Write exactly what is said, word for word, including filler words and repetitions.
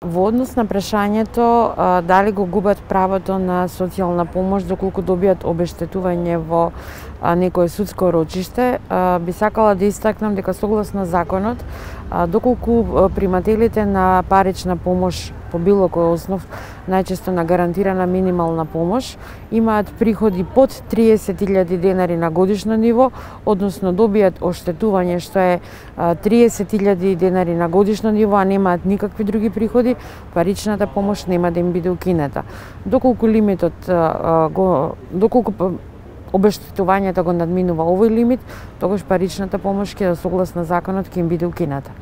Во однос на прашањето а, дали го губат правото на социјална помош доколку добијат обештетување во а, некое судско рочиште, а, би сакала да истакнам дека согласно законот, а, доколку примателите на парична помош по било кој основ, најчесто на гарантирана минимална помош, имаат приходи под триесет илјади денари на годишно ниво, односно добијат оштетување што е триесет илјади денари на годишно ниво, а немаат никакви други приходи, паричната помош нема да им биде укинета. Доколку лимитот го доколку обештетувањето го надминува овој лимит, тогаш паричната помош ќе согласно законот ќе им биде укината.